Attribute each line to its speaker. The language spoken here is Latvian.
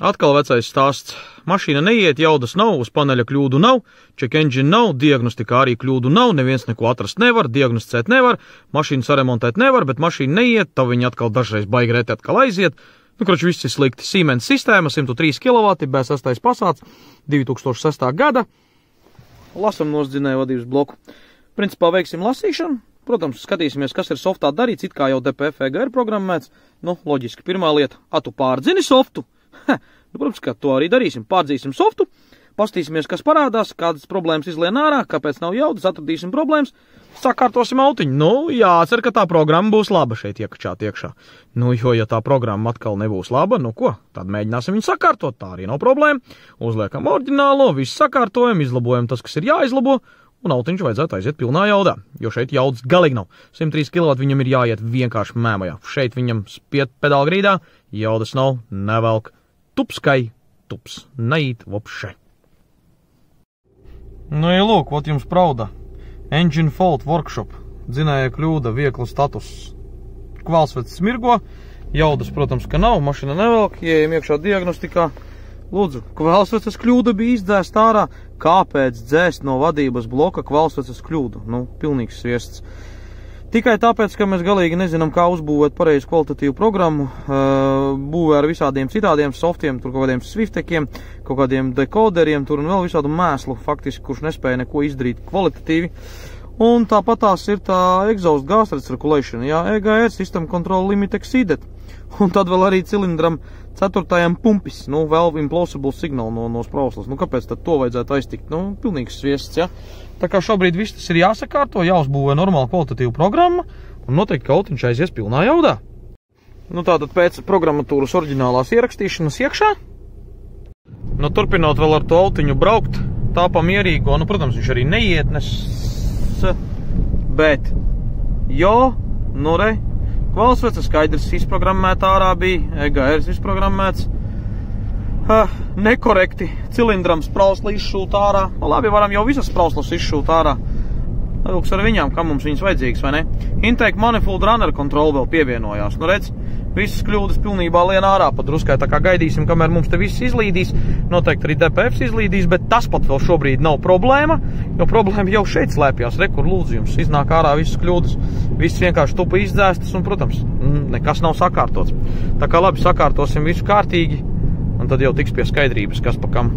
Speaker 1: Atkal vecais stāsts. Mašīna neiet, jaudas nav, uz paneļa kļūdu nav, check engine nav, diagnostikā arī kļūdu nav, neviens neko atrast nevar, diagnosticēt nevar, mašīnu saremontēt nevar, bet mašīna neiet, tā viņa atkal dažreiz baigi reti atkal aiziet. Nu, kroči, viss ir slikti. Siemens sistēma, 103 kW, B6 Passats, 2006. gada. Lasam nosdzinēju vadības bloku. Principā veiksim lasīšanu. Protams, skatīsimies, kas ir softā darīts, it kā jau DPF EGR programmēts. Nu, loģiski, pirmā lieta, tu pārdzini softu? Nu, protams, ka to arī darīsim. Pārdzīsim softu, pastīsimies, kas parādās, kādas problēmas izlien ārā, kāpēc nav jaudas, atradīsim problēmas, sakārtosim autiņu. Nu, jācer, ka tā programma būs laba šeit iekačāt iekšā. Nu, jo, ja tā programma atkal nebūs laba, nu ko, tad mēģināsim viņu sakārtot, tā arī nav problēma. Uzliekam oriģinālo, visu sakārtojam, izlabojam tas, kas ir jāizlabo, un autiņš vajadzētu aiziet pilnā jaudā, jo šeit jaudas galīgi nav. 103 kW viņam ir jāiet vienkārši mēmajā. Šeit viņam spiet pedāla grīdā, jaudas nav, nevelk. Tupskai, tups, neīt vopše. Nu, ja lūk, ot jums prauda. Engine fault workshop, dzinēja kļūda, viegla status. Kvalsvecs smirgo, jaudas, protams, ka nav, mašina nevelk, ieejam iekšā diagnostikā. Lūdzu, kvalsveces kļūda bija izdzēst ārā. Kāpēc dzēst no vadības bloka kvalsveces kļūdu? Nu, pilnīgs sviests. Tikai tāpēc, ka mēs galīgi nezinām, kā uzbūvēt pareizu kvalitatīvu programmu, būvē ar visādiem citādiem softiem, tur kaut kādiem swiftekiem, kaut kādiem dekoderiem, tur un vēl visādu mēslu, faktiski, kurš nespēja neko izdarīt kvalitatīvi. Un tāpat tās ir tā exhaust gas recirculation, jā, EGR, system control limit exceeded. Un tad vēl arī cilindram 4. pumpis, nu, vēl implausible signal no sprauslas. Nu, kāpēc tad to vajadzētu aiztikt? Nu, pilnīgs sviests, jā. Tā kā šobrīd viss tas ir jāsakārto, jāuzbūvē normāla kvalitatīva programma, un noteikti, ka autiņš aizies pilnā jaudā. Nu, tātad pēc programmatūras oriģinālās ierakstīšanas iekšā. Nu, turpinot vēl ar to autiņu braukt, tā pa mierīgo, nu, protams, viņš arī neietnes, bet, jo, nu, re, kvalsveca skaidrs izprogrammēta ārā bija, EGR izprogrammēts, nekorekti, cilindram sprausla izšūt ārā. Labi, varam jau visas sprauslas izšūt ārā. Lūks ar viņām, kam mums viņas vajadzīgas, vai ne? Intake manifold runner control vēl pievienojās. Nu, redz, visas kļūdas pilnībā lien ārā pa druskai, tā kā gaidīsim, kamēr mums te viss izlīdīs. Noteikti arī DPF izlīdīs, bet tas pat vēl šobrīd nav problēma, jo problēma jau šeit slēpjās. Re, kur lūdzu jums iznāk ārā visas kļūdas. Viss vienkārši tupa izdzēstas un, protams, nekas nav sakārtots. Tā kā labi, sakārtosim visu kārtīgi. Un tad jau tiks pie skaidrības, kas pa kam.